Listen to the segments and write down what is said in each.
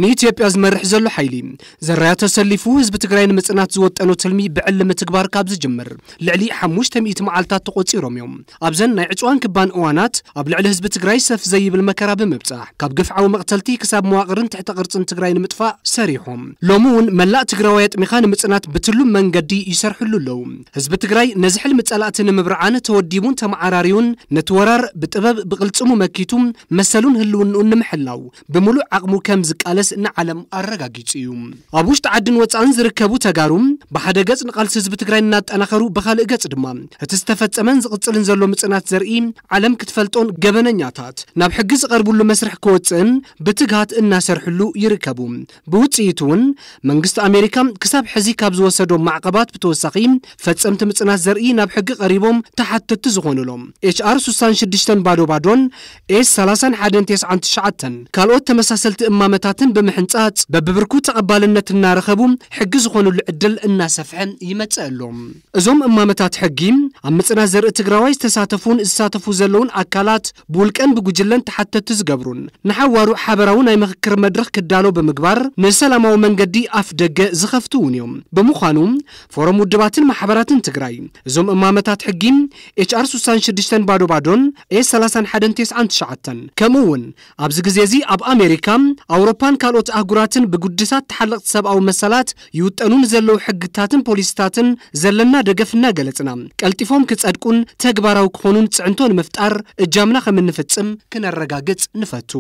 ንኢትዮጵያ ዝመርሕ ዘሎ ሓይሊ ዘራያ ተሰሊፉ ህዝቢ ትግራይ ንምጽናት ዝወጠኖ ትልሚ ብዕሊ ምትግባር ካብ ዝጅምር ልዕሊ ሓሙሽተ ሚእቲ መዓልታት ተቖጺሮም እዮም። ኣብዘን ናይ ዕጽዋን ክባን እዋናት ኣብ ልዕሊ ህዝቢ ትግራይ ሰፍ ዘይብል መከራ ብምብጻሕ ካብ ግፍዓዊ መቕተልቲ ክሳብ መዋቕርን ትሕተ ቅርጽን ትግራይ ንምጥፋእ ሰሪሖም። ሎሚ እውን መላእ ትግራዋይ ኣጥሚኻ ንምጽናት ብትሉም መንገዲ ይሰርሕሉ ኣለዉ። ህዝቢ ትግራይ ነዚ ሕልሚ ጸላእቲ ንምብርዓን ተወዲቡን ተመዓራሪዩን ነቲ ወራር ብጥበብ ብቕልጽሙ መኪቱ መሰሉን ህልውንኡን ንምሕላው ብምሉእ ዓቕሙ ከም ዝቃለስ ንዓለም ኣረጋጊጹ እዩ። ኣብ ውሽጢ ዓድን ወጻእን ዝርከቡ ተጋሩ ብሓደ ገጽ ንቃልሲ ህዝቢ ትግራይ እናጠናኸሩ፣ ብኻልእ ገጽ ድማ እቲ ዝተፈጸመን ዝቕጽልን ዘሎ ምጽናት ዘርኢ ዓለም ክትፈልጦን ገበነኛታት ናብ ሕጊ ዝቐርብሉ መስርሕ ክወጽእን ብትግሃት እናሰርሕሉ ይርከቡ። ብውጽኢቱ እውን መንግስቲ ኣሜሪካ ክሳብ ሕዚ ካብ ዝወሰዶ ማዕቐባት ብተወሳኺ ፈጸምቲ ምጽናት ዘርኢ ናብ ሕጊ ቀሪቦም ተሓተትቲ ዝኾኑሎም ኤች ኣር ስሳን ሽዱሽተን ባዶ ባዶን ኤስ ሰላሳን ሓደን ተስዓን ትሽዓተን ካልኦት ተመሳሰልቲ እማመታትን ብምሕንጻጽ በብብርኩ ተቐባልነት እናረኸቡ ሕጊ ዝኾኑሉ ዕድል እናሰፍሐ ይመጽእ ኣሎ። እዞም እማመታት ሕጊ ኣብ ምጽናት ዘርኢ ትግራዋይ ዝተሳተፉን ዝሳተፉ ዘለውን ኣካላት ብውልቀን ብጉጅለን ተሓተትቲ ዝገብሩን ንሓዋሩ ሓበራዊ ናይ ምኽክር መድረኽ ክዳሎ ብምግባር ንሰላማዊ መንገዲ ኣፍ ደገ ዝኸፍቱ እውን እዮም። ብምዃኑ ፎረም ውድባትን ማሕበራትን ትግራይ እዞም እማመታት ሕጊ ኤች ኣር ስሳን ሽዱሽተን ባዶ ባዶን ኤስ ሰላሳን ሓደን ተስዓን ትሽዓተን ከምኡ እውን ኣብዚ ግዜ እዚ ኣብ ኣሜሪካ፣ ኣውሮፓን ካልኦት ኣህጉራትን ብጉድሳት ተሓለቕቲ ሰብኣዊ መሰላት ይውጠኑ ንዘለዉ ሕግታትን ፖሊሲታትን ዘለና ደገፍ እናገለጽና ቀልጢፎም ክጸድቁን ተግባራዊ ክኾኑን ጽዕንቶ ንምፍጣር እጃምና ከም እንፍጽም ክነረጋግጽ ንፈቱ።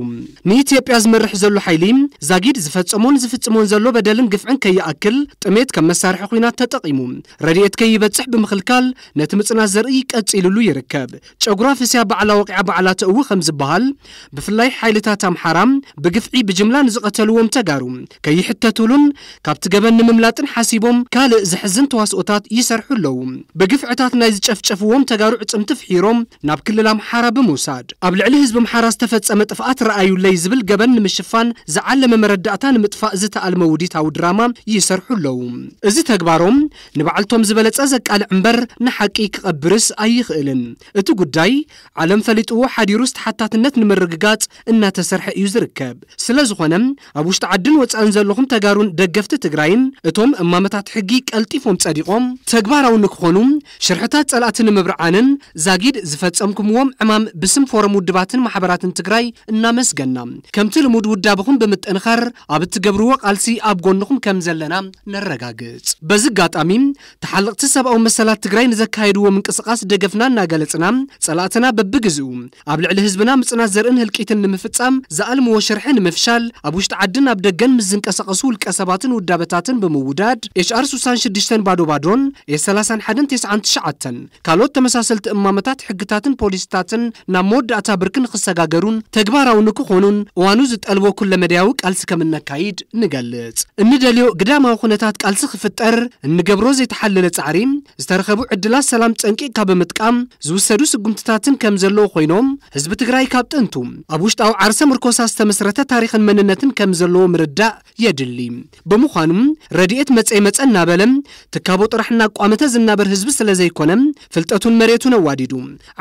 ንኢትዮጵያ ዝመርሕ ዘሎ ሓይሊ ዛጊድ ዝፈጸሞን ዝፍጽሞን ዘሎ በደልን ግፍዕን ከይኣክል ጥሜት ከም መሳርሒ ኹናት ተጠቒሙ ረድኤት ከይበጽሕ ብምኽልካል ነቲ ምጽናት ዘርኢ ቀጺሉሉ ይርከብ። ጨጉራ ፍስያ ባዕላ ወቂዓ ባዕላ ተእዊ ከም ዝበሃል ብፍላይ ሓይልታት ኣምሓራ ብግፍዒ ብጅምላ ንዝቐተልዎም ተጋሩ ከይሕተቱሉን ካብቲ ገበን ንምምላጥን ሓሲቦም ካልእ ዘሕዝን ተዋስኦታት ይሰርሑ ኣለዉ። ብግፍዕታት ናይ ዝጨፍጨፍዎም ተጋሩ ዕጽምቲ ፍሒሮም ናብ ክልል ኣምሓራ ብምውሳድ ኣብ ልዕሊ ህዝቢ ኣምሓራ ዝተፈጸመ ጥፍኣት ረኣዩለይ ዝብል ገበን ንምሽፋን ዝዓለመ መረዳእታ ንምጥፋእ ዝተኣልመ ውዲታዊ ድራማ ይሰርሑ ኣለዉ። እዚ ተግባሮም ንባዕልቶም ዝበለጸ ዘቃልዕ እምበር ንሓቂ ክቐብርስ ኣይኽእልን። እቲ ጉዳይ ዓለም ፈሊጥዎ ሓዲሩስ ተሓታትነት ንምርግጋጽ እናተሰርሐ እዩ ዝርከብ። ስለ ዝኾነ ኣብ ውሽጢ ዓድን ወጻእን ዘለኹም ተጋሩን ደገፍቲ ትግራይን እቶም እማመታት ሕጊ ቀልጢፎም ጸዲቖም ተግባራዊ ንክኾኑ ሽርሕታት ጸላእቲ ንምብርዓንን ዛጊድ ዝፈጸምኩምዎም ዕማም ብስም ፎረም ውድባትን ማሕበራትን ትግራይ እናመስገና ከምቲ ልሙድ ውዳብኹም ብምጥንኻር ኣብ እትገብርዎ ቃልሲ ኣብ ጎንኹም ከም ዘለና ነረጋግጽ። በዚ ኣጋጣሚ ተሓለቕቲ ሰብኣዊ መሰላት ትግራይ ንዘካየድዎ ምንቅስቓስ ደገፍና እናገለጽና ጸላእትና በብግዜኡ ኣብ ልዕሊ ህዝብና ምጽናት ዘርእን ህልቂትን ንምፍጻም ዝኣልምዎ ሽርሒ ንምፍሻል ኣብ ውሽጢ ዓድን ኣብ ደገን ምስ ዝንቀሳቐሱ ውልቀ ሰባትን ውዳበታትን ብምውዳድ ኤች ኣር ስሳን ሽዱሽተን ባዶ ባዶን ኤስ ሰላሳን ሓደን ተስዓን ትሽዓተን ካልኦት ተመሳሰልቲ እማመታት ሕግታትን ፖሊሲታትን ናብ መወዳእታ ብርኪ ንክሰጋገሩን ተግባራዊ ንክኾኑን እዋኑ ዝጠልቦ ኩለመዳያዊ ቃልሲ ከም እነካይድ ንገልጽ። እንደልዮ ግዳማዊ ኩነታት ቃልሲ ክፍጠር እንገብሮ ዘይተሓለለ ጻዕሪ ዝተረኸቡ ዕድላት ሰላም ጸንቂቕካ ብምጥቃም ዝውሰዱ ስጉምትታትን ከም ዘለዉ ኮይኖም ህዝቢ ትግራይ ካብ ጥንቱ ኣብ ውሽጣዊ ዓርሰ ምርኮሳ ዝተመስረተ ታሪኽን መንነትን ከም ዘለዎ ምርዳእ የድሊ። ብምዃኑ ረድኤት መጸ ይመጸ እናበለ ትካቦ ጥራሕ እናቋመተ ዝናበር ህዝቢ ስለ ዘይኮነ ፍልጠቱን መሬቱን ኣዋዲዱ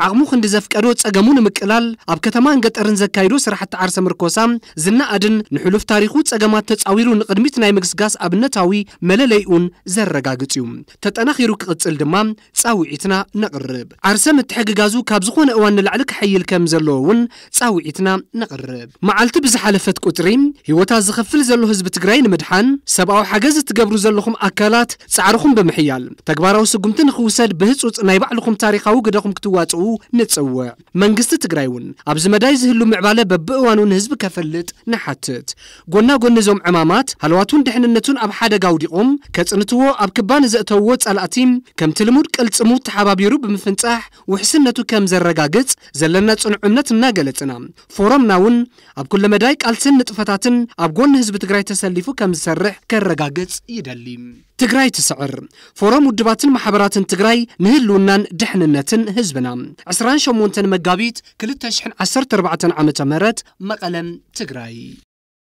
ዓቕሙ ክንዲ ዘፍቀዶ ጸገሙ ንምቅላል ኣብ ከተማን ገጠርን ዘካይዶ ስራሕቲ ዓርሰ ምርኮሳ ዝነኣድን ንሕሉፍ ታሪኹ ጸገማት ተጻዊሩ ንቕድሚት ናይ ምግስጋስ ኣብነታዊ መለለይኡን ዘረጋግጽ እዩ። ተጠናኺሩ ክቕጽል ድማ ጻውዒትና ነቕርብ። ዓርሰ ምትሕግጋዙ ካብ ዝኾነ እዋን ንላዕሊ ክሕይል ከም ዘለዎ እውን ጻውዒትና ነቕርብ። መዓልቲ ብዝሓለፈት ቁጽሪ ህይወታ ዝኸፍል ዘሎ ህዝቢ ትግራይ ንምድሓን ሰብኣዊ ሓገዝ እትገብሩ ዘለኹም ኣካላት ጻዕርኹም ብምሕያል ተግባራዊ ስጉምቲ ንኽውሰድ ብህጹጽ ናይ ባዕልኹም ታሪኻዊ ግደኹም ክትዋጽኡ ንጽውዕ። መንግስቲ ትግራይ እውን ኣብዚ መዳይ ዝህሉ ምዕባለ በብእዋኑ ንህዝቢ ከፈልጥ ንሓትት። ጎና ጎኒ እዞም ዕማማት ሃለዋቱን ድሕንነቱን ኣብ ሓደጋ ኣውዲቖም ከጽንትዎ ኣብ ክባ ንዘእተውዎ ጸላእቲ ከምቲ ልሙድ ቅልጽሙ ተሓባቢሩ ብምፍንጻሕ ውሕስነቱ ከም ዘረጋግጽ ዘለና ጽኑዕ እምነት እናገለጽና ፎረምና እውን ኣብ ኩለ መዳይ ቃልስን ንጥፈታትን ኣብ ጎኒ ህዝቢ ትግራይ ተሰሊፉ ከም ዝሰርሕ ከረጋግጽ ይደሊ። ትግራይ ትስዕር። ፎረም ውድባትን ማሕበራትን ትግራይ ንህልውናን ድሕንነትን ህዝብና። ዕስራን ሸሞንተን መጋቢት ክልተ ሽሕን ዓሰርተ ኣርባዕተን ዓመተ ምህረት መቐለም ትግራይ።